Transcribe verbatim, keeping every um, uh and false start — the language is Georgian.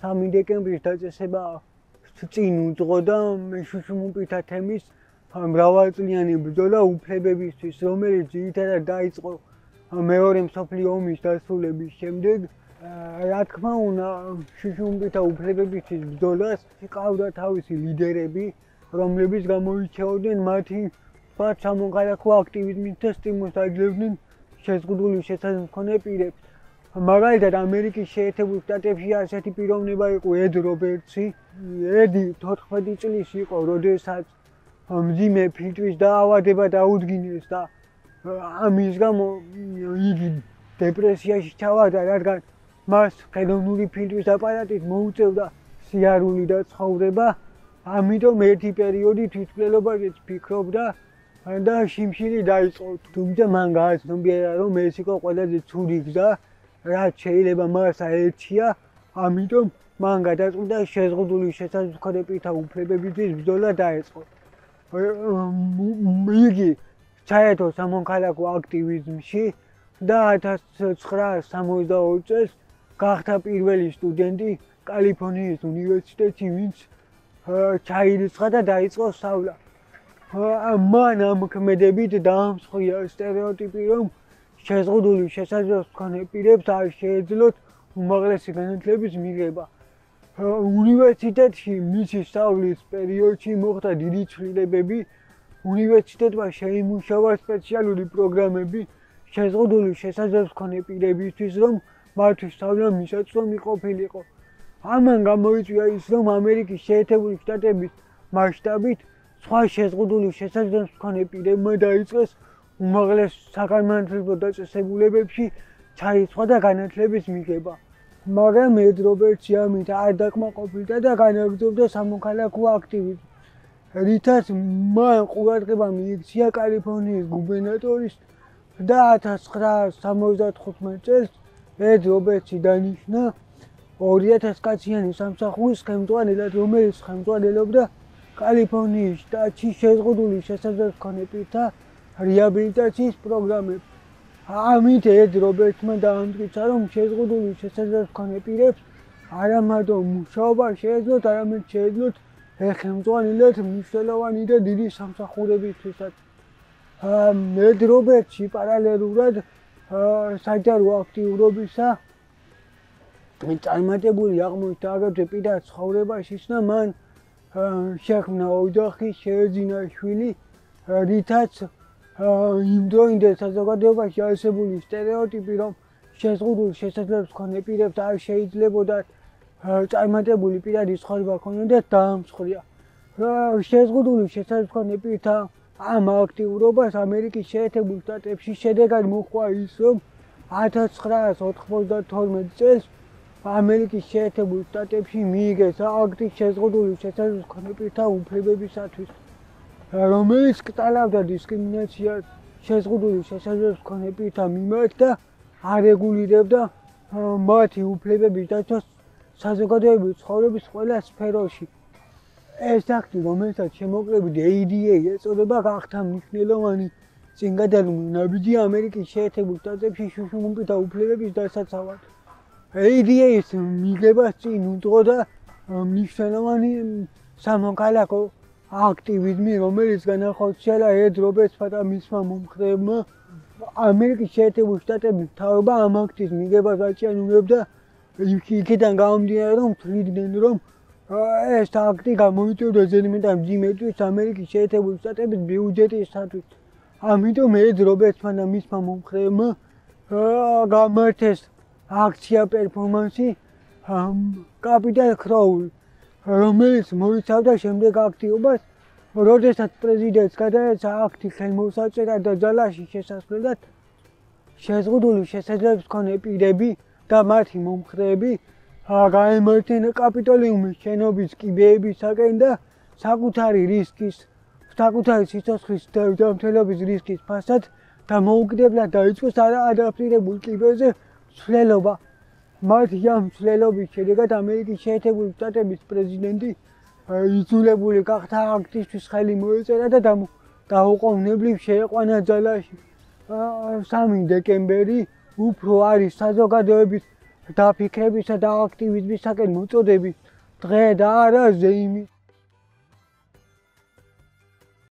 სამი დეკემბრის დაწესება წინ უძღო და შუშუმუპითა თემის მრავალწლიანი ბრძოლა უფლებებისთვის, რომელიც ძირითადად დაიწყო მეორე მსოფლიო ომის დასრულების შემდეგ. რა თქმა უნდა, შუშუმუპითა უფლებებისთვის ბრძოლას ჰყავდა თავისი ლიდერები, რომლებიც გამოირჩეოდნენ მათი სხვა სამოქალაქო აქტივიზმით და სტიმულს აძლევდნენ შეზღუდული შესაძლებლობის მქონე პირებს. მაგალითად, ამერიკის შეერთებულ შტატებში ასეთი პიროვნება იყო ედ რობერტსი. ედი თოთხმეტი წლის იყო, როდესაც მძიმე ფილტვის დაავადება დაუდგინეს და ამის გამო იგი დეპრესიაში ჩავარდა, რადგან მას ხელოვნური ფილტვის აპარატით მოუწევდა სიარული და ცხოვრება. ამიტომ ერთი პერიოდი თვითმკვლელობაშიც ფიქრობდა და შიმშილი დაიწყო. თუმცა მან გააცნობიერა, რომ ეს იყო ყველაზე ცუდი გზა, რაც შეიძლება მას აერჩია. ამიტომ მან გადაწყვიტა შეზღუდული შესაძლებლობის მქონე პირთა უფლებებისთვის ბრძოლა დაეწყო. იგი ჩაერთო სამოქალაქო აქტივიზმში და ათას ცხრაას სამოცდაორი წელს გახდა პირველი სტუდენტი კალიფორნიის უნივერსიტეტში, ვინც ჩაირიცხა და დაიწყო სწავლა. მან ამ ქმედებით დაამსხვრია სტერეოტიპი, რომ შეზღუდული შესაძლებლობის მქონე პირებს არ შეეძლოთ უმაღლესი განათლების მიღება. უნივერსიტეტში მისი სწავლის პერიოდში მოხდა დიდი ცვლილებები. უნივერსიტეტმა შეიმუშავა სპეციალური პროგრამები შეზღუდული შესაძლებლობის მქონე პირებისთვის, რომ მათთვის სწავლა მისაწვდომი ყოფილიყო. ამან გამოიწვია ის, რომ ამერიკის შეერთებული შტატების მასშტაბით სხვა შეზღუდული შესაძლებლობის მქონე პირებმა დაიწყეს უმაღლეს საგანმანათლებლო დაწესებულებებში ჩაირიცხვა და განათლების მიღება. მაგრამ ედ რობერტსი ამით არ დაკმაყოფილდა და განაგრძობდა სამოქალაქო აქტივიზმს, რითაც მან ყურადღება მიიქცია კალიფორნიის გუბერნატორის და ათას ცხრაას სამოცდათხუთმეტ წელს ედ რობერტსი დანიშნა ორი ათას კაციანი სამსახურის ხელმძღვანელად, რომელიც ხელმძღვანელობდა კალიფორნიის შტატში შეზღუდული შესაძლებლობის მქონე პირთა რეაბილიტაციის პროგრამებს. ამით ედ რობერტსმა დაამტკიცა, რომ შეზღუდული შესაძლებლობის მქონე პირებს არა მარტო მუშაობა შეეძლოთ, არამედ შეეძლოთ ხელმძღვანელად მნიშვნელოვანი და დიდი სამსახურებისთვისაც. ედ რობერტსი პარალელურად საჯარო აქტიურობისა წარმატებული აღმოჩნდა აგრეთვე პირად ცხოვრებაშიც და მან შექმნა ოჯახი, შეეძინა შვილი, რითაც იმ დროინდელ საზოგადოებაში არსებული სტერეოტიპი, რომ შეზღუდული შესაძლებლობის მქონე პირებს არ შეიძლებოდათ წარმატებული პირადი ცხოვრება ჰქონოდათ, დაამსხვრია. შეზღუდული შესაძლებლობის მქონე პირთა ამ აქტიურობას ამერიკის შეერთებულ შტატებში შედეგად მოჰყვა ის, რომ ათას ცხრაას ოთხმოცდათორმეტ წელს ამერიკის შეერთებულ შტატებში მიიღეს აქტი შეზღუდული შესაძლებლობის მქონე პირთა უფლებებისათვის, რომელიც კტალავდა დისკრიმინაციას შეზღუდული შესაძლებლობის მქონე პირთა მიმართ და არეგულირებდა მათი უფლებების დაცვას საზოგადოებრივი ცხოვრების ყველა სფეროში. ეს აქტი, რომელსაც შემოკლებით ეი დი ეი ეწოდება, გახდა მნიშვნელოვანი წინგადადგმული ნაბიჯი ამერიკის შეერთებულ შტატებში შუშუმუპითა უფლებების დასაცავად. ეი დი ეის მიღებას წინ უძღო და მნიშვნელოვანი სამოქალაქო აქტივიზმი, რომელიც განახორციელა ედ რობერტსმა და მისმა მომხრეებმა. ამერიკის შეერთებული შტატების მთავრობა ამ აქტის მიღებას აჭიანურებდა, იქიდან გამომდინარე, რომ თვლიდნენ, რომ ეს აქტი გამოიწვევდა ზედმეტად მძიმე ტვირთს ამერიკის შეერთებული შტატების ბიუჯეტისათვის. ამიტომ ედ რობერტსმა და მისმა მომხრეებმა გამართეს აქცია პერფორმანსი კაპიტალ ქროული, რომელიც მოიცავდა შემდეგ აქტივობას, როდესაც პრეზიდენტს გადაეცა აქტი ხელმოსაწერად და ძალაში შესასვლელად, შეზღუდული შესაძლებლობის მქონე პირები და მათი მომხრეები გაემართნენ კაპიტოლიუმის შენობის კიბეებისაკენ და საკუთარი რისკის, საკუთარი სიცოცხლის ჯანმრთელობის რისკის ფასად დამოუკიდებლად დაიწყოს ადაპტირებულ კიბეზე ცვლილება. მათი ამ ცვლილების შედეგად ამერიკის შეერთებული შტატების პრეზიდენტი იძულებული გახდა აქტისთვის ხელი მოეწერა და დაუყოვნებლივ შეეყვანა ძალაში. სამი დეკემბერი უფრო არის საზოგადოების დაფიქრებისა და აქტივიზმისაკენ მოწოდები დღე და არა ზეიმი.